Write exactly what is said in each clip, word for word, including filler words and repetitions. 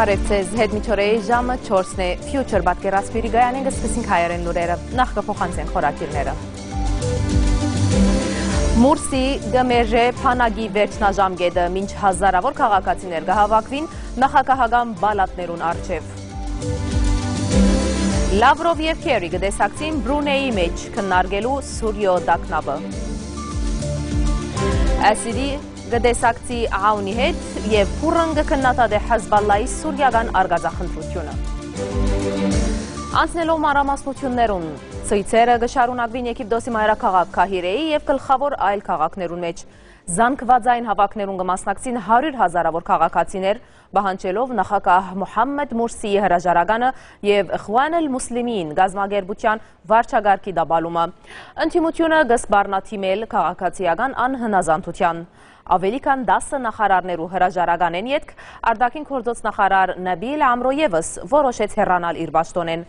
Բարև ձեզ, հետ մինչ օրէ ժամը չորսն է, Future պատկերասփիւռի գայանէն կը սկսենք հայերէն լուրերը։ Նախ կը փոխանցենք խորագիրները։ Մուրսի կը մերժէ բանակի վերջնաժամկետը, մինչ հազարաւոր քաղաքացիներ կը հաւաքուին նախագահական պալատներուն առջեւ։ Լավրով եւ Քերի կը տեսակցին Բրունեի մէջ քննարկելու Սուրիոյ տագնապը։ Ասիրի կը տեսակցի Աունի հետ եւ Փուրն կը քննադատէ Հեզբալլայի սուրիական արկածախնդրութիւնը։ Անցնելով մանրամասնութիւններուն, ցոյցերը կը շարունակուին Եգիպտոսի մայրաքաղաք Քահիրեի եւ գլխաւոր այլ քաղաքներուն մէջ։ Զանգուածային հաւաքներուն կը մասնակցին հարիւր հազարաւոր քաղաքացիներ, պահանջելով նախագահ Մուհամմեդ Մուրսիի հրաժարականը եւ Իխուան ալ Մուսլիմին կազմակերպութեան վարչակարգի տապալումը։ Ընդդիմութիւնը կը սպառնայ դիմել քաղաքացիական անհնազանդութեան։ Աւելի քան տասը նախարարներու հրաժարականէն ետք արտաքին գործոց նախարար Նաբիլ Ամրո եւս որոշեց հեռանալ իր պաշտօնէն։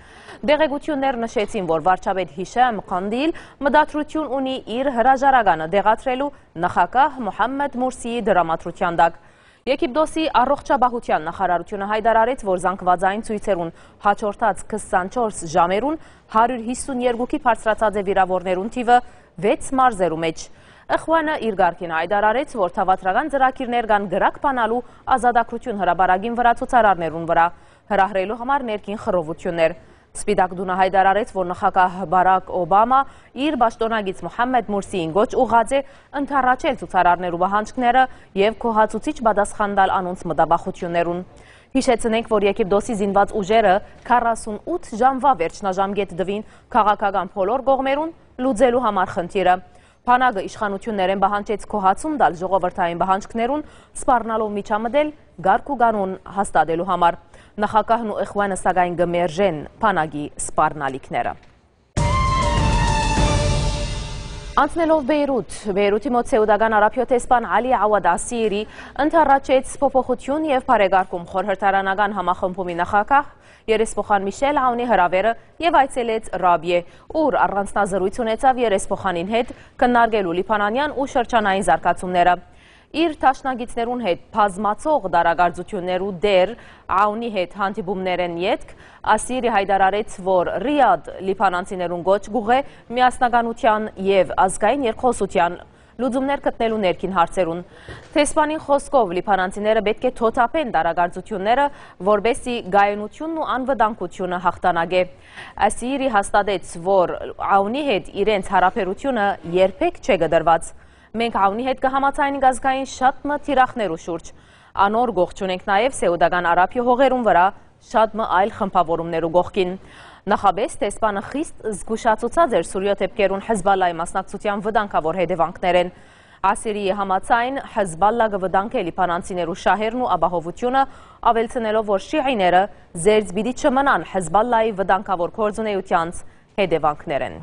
Տեղեկութիւններ նշեցին, որ վարչապետ Հիշամ Կանդիլ մտադրութիւն ունի իր հրաժարականը տեղադրելու նախագահ Մուհամմեդ Մուրսիի դրամատրութեան տակ։ Եգիպտոսի առողջապահութեան նախարարութիւնը յայտարարեց, որ զանգուածային ցոյցերուն յաջորդած քսանչորս ժամերուն հարիւր յիսուն երկուքի բարձրացած է վիրաւորներուն թիւը վեց մարզերու մէջ։ Իխուանը իր կարգին յայտարարեց, որ թաւադրական ծրագիրներ կան կրակ բանալու ազատագրութիւն հրապարակին վրայ ցուցարարներուն վրայ հրահրելու համար ներքին խռովութիւններ։ Սպիտակ տունը յայտարարեց, որ նախագահ Բարակ Օբամա իր պաշտօնակից Մուհամմեդ Մուրսիին կոչ ուղղած է ընդառաջել ցուցարարներու պահանջները եւ գոհացուցիչ պատասխան տալ անոնց մտավախութիւններուն։ Յիշեցնենք, որ Եգիպտոսի զինուած ուժերը քառասունութ ժամուայ վերջնաժամկետ տուին քաղաքական բոլոր կողմերուն լուծելու համար խնդիրը։ Բանակը իշխանութիւններէն պահանջեց գոհացում տալ ժողովրդային պահանջքներուն, սպառնալով միջամտել կարգ ու կանոն հաստատելու համար։ Նախագահն ու Իխուանը, սակայն, կը մերժեն բանակի սպառնալիքները։ Անցնելով Բեյրութ, Բեյրութի մօտ Սեուտական Արաբիոյ դեսպան Ալի Աուադ Ասիրի ընդառաջեց փոփոխութիւն եւ բարեկարգում խորհրդարանական համախմբումի նախագահ երեսփոխան Միշել Աունի հրաւերը եւ այցելեց Ռաբիե, ուր առանձնազրոյց ունեցաւ երեսփոխանին հետ քննարկելու լիբանանեան ու շրջանային զարգացումները։ Իր դաշնակիցներուն հետ բազմացող տարակարծութիւններու տէր Աունի հետ հանդիպումներէն ետք Ասիրի յայտարարեց, որ Ռիադ լիբանանցիներուն կոչ կուղղէ միասնականութեան եւ ազգային երկխօսութեան լուծումներ գտնելու ներքին հարցերուն։ Դեսպանին խօսքով, լիբանանցիները պէտք է թօթափեն տարակարծութիւնները, որպէս զի կայունութիւնն ու անվտանգութիւնը յաղթանակէ։ Ասիրի հաստատեց, որ Աունի հետ իրենց յարաբերութիւնը երբեք չէ կտրուած։ «Մենք Աունի հետ կը համաձայնենք ազգային շատ մը թիրախներու շուրջ։ Անոր կողջ ունենք նաեւ Սեուտական Արաբիոյ հողերուն վրայ շատ մը այլ խմբաւորումներու կողքին»։ Նախապէս դեսպանը խիստ զգուշացուցած էր Սուրիոյ դէպքերուն Հեզբալլայի մասնակցութեան վտանգաւոր հետեւանքներէն։ Ասիրիի համաձայն, Հեզբալլա կը վտանգէ լիբանանցիներու շահերն ու ապահովութիւնը, աւելցնելով, որ շիիները զերծ պիտի չմնան Հեզբալլայի վտանգաւոր գործունեութեանց հետեւանքներէն։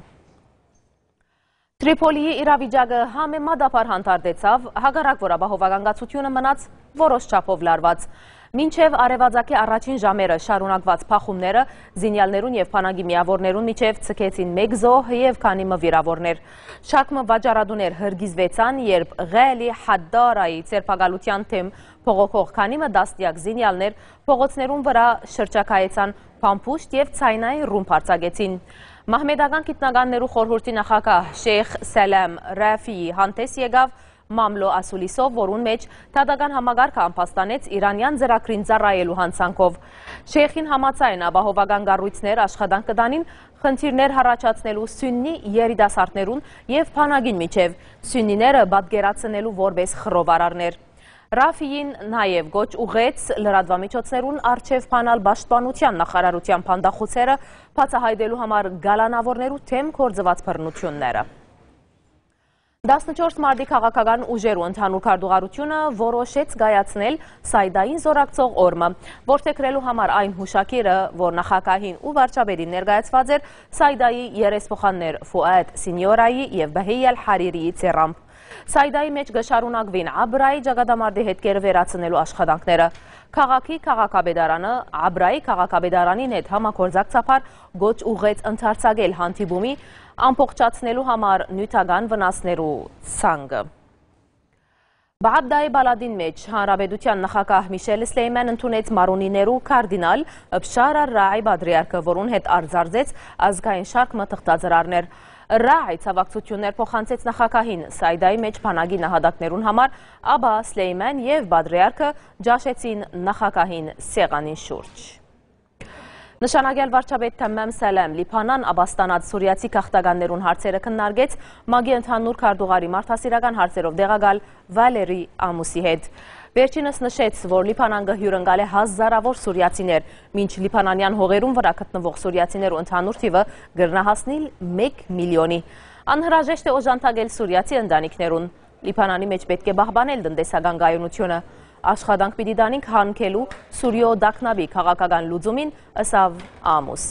Տրիփոլիի իրավիճակը համեմատաբար հանդարտեցաւ, հակառակ որ ապահովական կացությունը մնաց որոշ չափով լարված։ Մինչեւ արեւածագի առաջին ժամերը շարունակուած բախումները զինեալներուն եւ բանակի միաւորներուն միջեւ ցկեցին մէկ զոհ եւ քանի մը վիրաւորներ։ Շարք մը վաճառատուներ հրկիզուեցան, երբ Ղելի Հադդարայի ձերբակալութեան դէմ բողոքող քանի մը տասնեակ զինեալներ փողոցներուն վրայ շրջագայեցան փամփուշտ եւ ձայնային ռումբ արձակեցին։ Մահմեդական գիտնականներու խորհուրդի նախագահ Շեյխ Սելեմ Ռաֆիի հանդէս եկաւ Մամլո Ասուլիսով, որուն մէջ դատական համակարգը ամբաստանեց իրանեան ծրագրին ծառայելու յանցանքով։ Շեյխին համաձայն, ապահովական կառոյցներ աշխատանք կը տանին խնդիրներ յառաջացնելու սուննի երիտասարդներուն եւ բանակին միջեւ, սուննիները պատկերացնելու որպէս խռովարարներ։ Ռաֆիին նաեւ կոչ ուղղեց լրատուամիջոցներուն առջեւ բանալ պաշտպանութեան նախարարութեան բանտախուցերը բացայայտելու համար կալանաւորներու դէմ գործուած բռնութիւնները։ Տասնչորս մարտի քաղաքական ուժերու ընդհանուր քարտուղարութիւնը որոշեց կայացնել Սայդային զօրակցող օրը, որդեգրելու համար այն յուշագիրը, որ նախագահին ու վարչապետին ներկայացուած էր Սայդայի երեսփոխաններ Ֆուադ Սինիորայի եւ Բահի Ալ Հարիրիի ձեռամբ։ Սայդայի մէջ կը շարունակուին Աբրայի ճակատամարտի հետքերը վերացնելու աշխատանքները։ Քաղաքի քաղաքապետարանը Աբրայի քաղաքապետարանին հետ համագործակցաբար կոչ ուղղեց ընդարձակել հանդիպումը, ամբողջացնելու համար նիւթական վնասներու ցանկը։ Բաաբդայի պալատին մէջ հանրապետութեան նախագահ Միշել Սլեյմեն ընդունեց մարոնիներու կարդինալ Բշար Ռաի պատրիարքը, որուն հետ արծարծեց ազգային շարք մը թղթածրարներ։ Ռաի ցավակցութիւններ փոխանցեց նախագահին Սայդայի մէջ բանակի նահատակներուն համար, ապա Սլեյմեն եւ պատրիարքը ճաշեցին նախագահին սեղանին շուրջ։ Նշանակեալ վարչապետ Թամամ Սալեմ Լիբանան աբաստանած սուրիացի գաղթականներուն հարցերը քննարկեց ՄԱԿ-ի ընդհանուր քարտուղարի մարդասիրական հարցերով տեղակալ Վալերի Ամուսի հետ։ Վերջինս նշեց, որ Լիբանան կը հիւրընկալէ հազարաւոր սուրիացիներ, մինչ լիբանանեան հողերուն վրայ գտնուող սուրիացիներու ընդհանուր թիւը կրնայ հասնիլ մէկ միլիոնի։ Անհրաժեշտ է օժանդակել սուրիացի ընտանիքներուն։ Լիբանանի մէջ պէտք է պահպանել տնտեսական կայունութիւնը։ Աշխատանք պիտի տանինք յարգելու Սուրիոյ տագնապի քաղաքական լուծումին, ըսաւ Ամուս։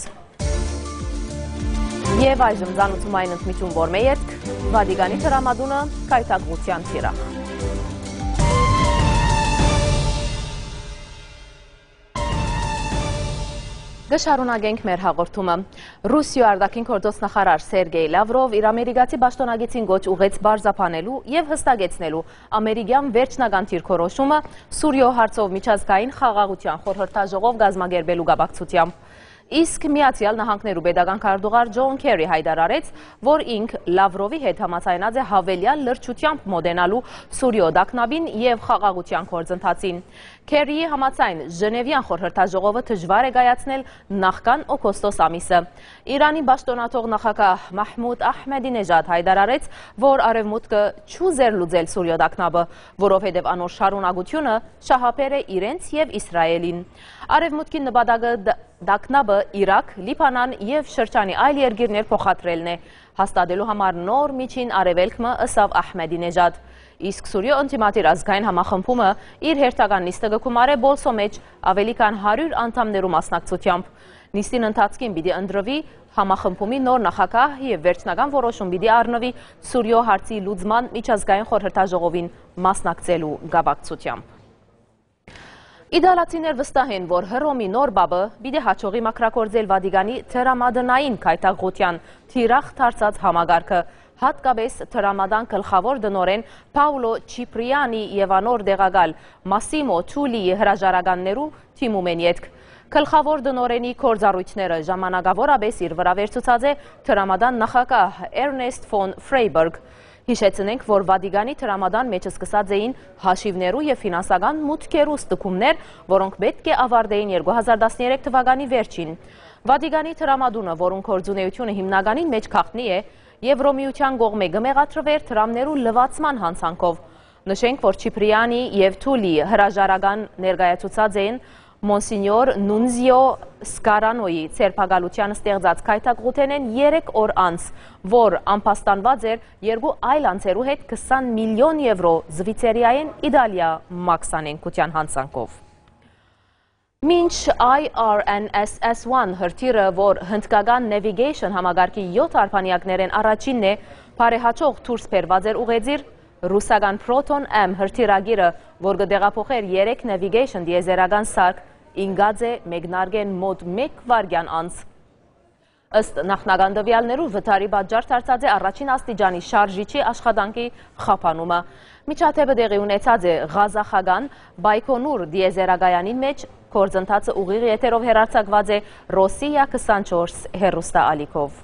Եւ այժմ ծանուցում այն ընդմիջում, որ մէ ետք Վատիկանի դրամատունը կայտակղութեան թիրախ։ Կը շարունակենք մեր հաղորդումը։ Ռուսիոյ արտաքին գործոց նախարար Սերգեյ Լավրով իր ամերիկացի պաշտօնակիցին կոչ ուղղեց պարզաբանելու եւ հստակեցնելու ամերիկեան վերջնական դիրքորոշումը Սուրիոյ հարցով միջազգային խաղաղութեան խորհրդաժողով կազմակերպելու կապակցությամբ։ Իսկ Միացեալ Նահանգներու պետական քարտուղար Ջոն Քերի յայտարարեց, որ ինք Լավրովի հետ համաձայնած է յաւելեալ լրջութեամբ մօտենալու Սուրիոյ տագնապին եւ խաղաղութեան գործընթացին։ Քերիի համաձայն, Ժնեւեան խորհրդաժողովը դժուար է կայացնել նախքան օգոստոս ամիսը։ Իրանի պաշտօնաթող նախագահ Մահմուդ Ահմեդի Նեժադ յայտարարեց, որ Արեւմուտքը չուզեր լուծել Սուրիոյ տագնապը, որովհետեւ անոր շարունակությունը շահաբեր է իրենց եւ Իսրայէլին։ Արեւմուտքի նպատակը դ-, տագնապը Իրաք, Լիբանան եւ շրջանի այլ երկիրներ փոխադրելն է, հաստատելու համար նոր միջին արեւելք մը, ըսաւ Ահմեդի Նեժադ։ Իսկ Սուրիոյ ընդդիմադիր ազգային համախմբումը իր հերթական նիստը կը գումարէ Պոլսոյ մէջ աւելի քան հարիւր անդամներու մասնակցությամբ։ Նիստին ընթացքին պիտի ընտրուի համախմբումի նոր նախագահ եւ վերջնական որոշում պիտի առնուի Սուրիոյ հարցի լուծման միջազգային խորհրդաժողովին մասնակցելու կապակցությամբ։ Իտալացիներ վստահ են, որ Հռոմի նոր պապը պիտի յաջողի մաքրագործել Վատիկանի դրամատնային կայտակղութեան թիրախ դարձած համակարգը, յատկապէս դրամատան գլխաւոր տնօրէն Պաուլո Չիպրիանի եւ անոր տեղակալ Մասիմո Թուլիի հրաժարականներու դիմումէն ետք։ Գլխաւոր տնօրէնի գործառոյթները ժամանակաւորապէս իր վրայ վերցուցած է դրամատան նախագահ Էրնեստ Ֆոն Ֆրեյբերգ։ Յիշեցնենք, որ Վատիկանի դրամատան մէջ սկսած էին հաշիւներու եւ ֆինանսական մուտքերու ստուգումներ, որոնք պէտք է աւարտէին երկու հազար տասներեք թուականի վերջին։ Վատիկանի դրամատունը, որուն գործունեութիւնը հիմնականին մէջ գաղտնի է, Եվրոմիութեան կողմէ կը մեղադրուէր դրամներու լուացման յանցանքով։ Նշենք, որ Չիպրիանի եւ Թուլի հրաժարական ներկայացուցած էին Մոնսինյոր Նունզիո Սկարանոյի ձերբակալութեան ստեղծած կայտակղութենէն երեք օր անց, որ ամբաստանուած էր երկու այլ անձերու հետ քսան միլիոն եվրո Զվիցերիայէն Իտալիա մաքսանենգութեան յանցանքով։ Մինչ I R N S S one հրթիռը, որ հնդկական Navigation համակարգի յոթ արբանյակներէն առաջինն է, բարեհաճող դուրս բերուած էր ուղեծիր, ռուսական Proton M հրթիռագիրը, որ կը տեղափոխէր երեք Navigation տիեզերական սարք, ինկած է մեկնարկէն մօտ մէկ վայրկեան անց։ Ըստ նախնական տուեալներու, վթարի պատճառ դարձած է առաջին աստիճանի շարժիչի աշխատանքի խափանումը։ Միջադէպը տեղի ունեցած է ղազախական Բայքոնուր տիեզերակայանին մէջ, գործընթացը ուղիղ եթերով հեռարձակուած է Ռոսիա քսանչորս հեռուստաալիքով։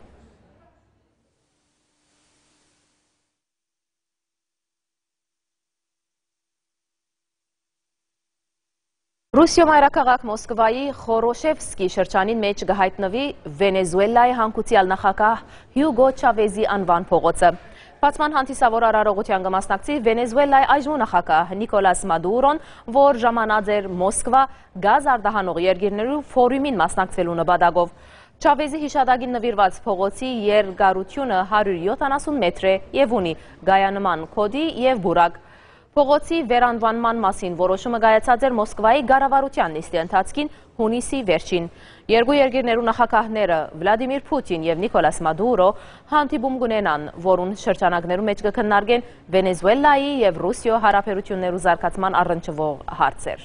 Ռուսիոյ մայրաքաղաք Մոսկվայի Խորոշևսկի շրջանին մէջ կը յայտնուի Վենեզուելայի հանգուցեալ նախագահ Հիուգո Չավեզի անուան փողոցը։ Բացման հանդիսաւոր արարողութեան կը մասնակցի Վենեզուելայի այժմու նախագահ Նիկոլաս Մադուրոն, որ ժամանած էր Մոսկվա գազ արտահանող երկիրներու ֆորումին մասնակցելու նպատակով։ Չավեզի յիշատակին նուիրուած փողոցի երկարութիւնը հարիւր յոթանասուն մետր է եւ ունի կայանման կոդի եւ պուրակ։ Փողոցի վերանուանման մասին որոշումը կայացած էր Մոսկվայի կառավարութեան նիստի ընթացքին հունիսի վերջին։ Երկու երկիրներու նախագահները՝ Վլադիմիր Փութին եւ Նիկոլաս Մադուրո, հանդիպում կունենան, որուն շրջանակներու մէջ կը քննարկեն Վենեզուելայի եւ Ռուսիոյ յարաբերութիւններու զարգացման առնչուող հարցեր։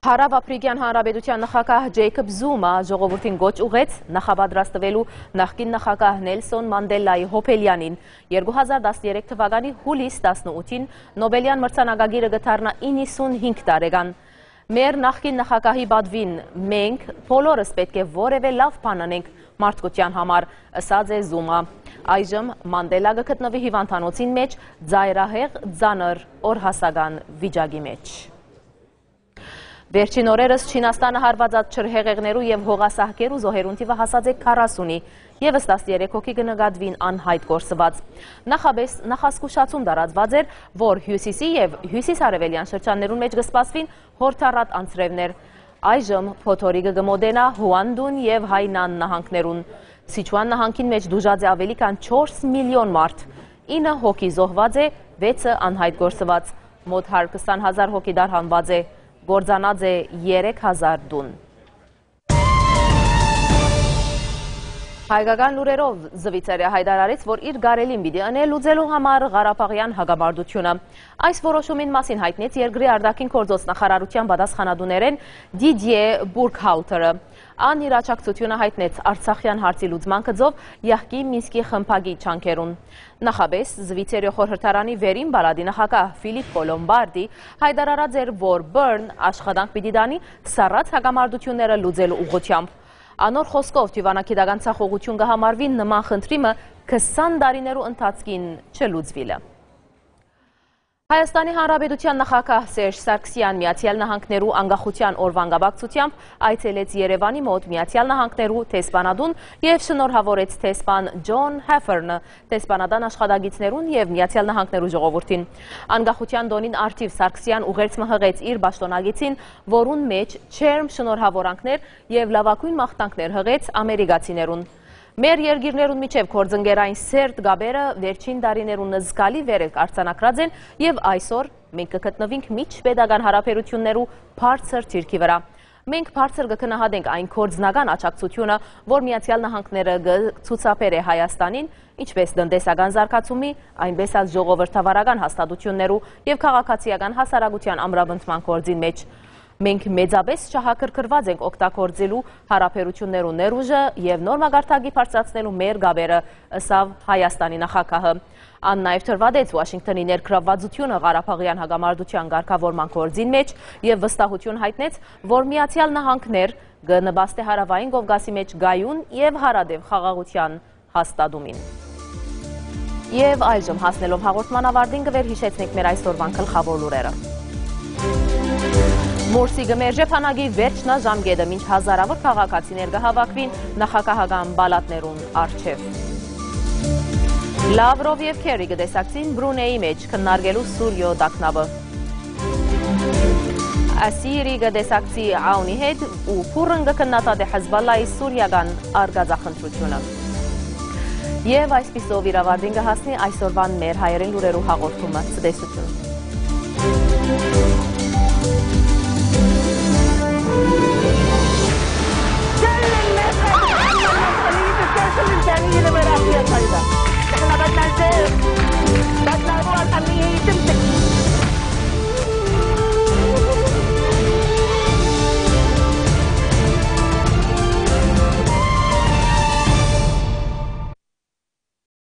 Հարաւափրիկեան Հանրապետութեան նախագահ Ջեյքոբ Զումա ժողովուրդին կոչ ուղղեց նախապատրաստուելու նախկին նախագահ Նելսոն Մանդելայի յոբելեանին։ Երկու հազար տասներեք թվականի յուլիս տասնութին Նոբելեան մրցանակագիրը կը դառնայ իննսունհինգ տարեկան։ «Մեր նախկին նախագահի պատուին մենք բոլորս պէտք է որեւէ լաւ բան ընենք մարդկութեան համար», ըսած է Զումա։ Այժմ Մանդելա կը գտնուի հիւանդանոցին մէջ, ծայրահեղ, ծանր, օրհասական վիճակի մէջ։ Վերջին օրերս Չինաստանը հարուածած ջրհեղեղներու եւ հողասահքերու զոհերուն թիւը հասած է քառասունի, եւս տասներեք հոգի կը նկատուին անյայտ կորսուած։ Նախապէս նախազգուշացում տարածուած էր, որ հիւսիսի եւ հիւսիսարեւելեան շրջաններուն մէջ կը սպասուին յորդառատ անձրեւներ։ Այժմ փոթորիկը կը մօտենայ Հուանդուն եւ Հայնան նահանգներուն։ Սիչուան նահանգին մէջ տուժած է աւելի քան չորս միլիոն մարդ, ինը հոգի զոհուած է, վեցը անյայտ կորսուած, մօտ հարյուր քսան հազար հոգի տարհանուած է, կործանած է երեք հազար տուն։ Հայկական լուրերով, Զուիցերիա յայտարարեց, որ իր կարելին պիտի ընէ լուծելու համար ղարաբաղեան հակամարտութիւնը։ Այս որոշումին մասին յայտնեց երկրի արտաքին գործոց նախարարութեան պատասխանատուներէն Դիդիէ Բուրքհաուտերը։ Ան իր աջակցութիւնը յայտնեց արցախեան հարցի լուծման գծով յահկի Մինսկի խմբակի ջանքերուն։ Նախապէս Զուիցերիոյ խորհրդարանի վերին պալատի նախագահ Ֆիլիպպո Լոմբարդի յայտարարած էր, որ Բըրն աշխատանք պիտի տանի սառած հակամարտութիւնները լուծելու ուղղութեամբ։ Անոր խօսքով, դիւանագիտական ձախողութիւն կը համարուի նման խնդրի մը քսան տարիներու ընթացքին չլուծուիլը։ Հայաստանի Հանրապետութեան նախագահ Սերժ Սարգսեան Միացեալ Նահանգներու անկախութեան օրուան կապակցութեամբ այցելեց Երեւանի մօտ Միացեալ Նահանգներու դեսպանատուն եւ շնորհաւորեց դեսպան Ջոն Հեֆերնը դեսպանատան աշխատակիցներուն եւ Միացեալ Նահանգներու ժողովուրդին։ Անկախութեան տօնին առթիւ Սարգսեան ուղերձ մը յղեց իր պաշտօնակիցին, որուն մէջ ջերմ շնորհաւորանքներ եւ լաւագոյն մաղթանքներ յղեց ամերիկացիներուն։ «Մեր երկիրներուն միջեւ գործընկերային սերտ կապերը վերջին տարիներուն զգալի վեր արձանագրած են եւ այսօր մենք կը գտնուինք միջպետական յարաբերութիւններու բարձր դիրքի վրայ։ Մենք բարձր կը գնահատենք այն գործնական աջակցութիւնը, որ Միացեալ Նահանգները կը ցուցաբերէ Հայաստանին, ինչպէս տնտեսական զարգացումի, այնպէս ալ ժողովրդավարական հաստատութիւններու եւ քաղաքացիական հասարակութեան ամրապնդման գործին մէջ։ Մենք մեծապէս շահագրգռուած ենք օգտագործելու յարաբերութիւններու ներուժը եւ նոր մակարդակի բարձրացնելու մեր կապերը», ըսաւ Հայաստանի նախագահը։ Ան նաեւ դրուադեց Ուաշինկթոնի ներգրաւվածութիւնը ղարաբաղեան հակամարտութեան կարգաւորման գործին մէջ եւ վստահութիւն յայտնեց, որ Միացեալ Նահանգներ կը նպաստէ Հարաւային Կովկասի մէջ կայուն եւ յարատեւ խաղաղութեան հաստատումին։ Եւ այժմ, հասնելով հաղորդման ավարտին, կը վերհիշեցնենք մեր այսօրուան գլխաւոր լուրերը։ Մուրսի կը մերժէ բանակի վերջնաժամկետը, մինչ հազարաւոր քաղաքացիներ կը հաւաքուին նախագահական պալատներուն առջեւ։ Լավրով եւ Քերրի կը տեսակցին Բրունեի մէջ, քննարկելու Սուրիոյ տագնապը։ Ասիրի կը տեսակցի Աունի հետ ու բուռն կը քննադատէ Հեզբալլայի սուրիական արկածախնդրութիւնը։ Եւ այսպիսով իր աւարտին կը հասնի այսօրուան մեր հայերէն լուրերու հաղորդումը։ Ցտեսութիւն։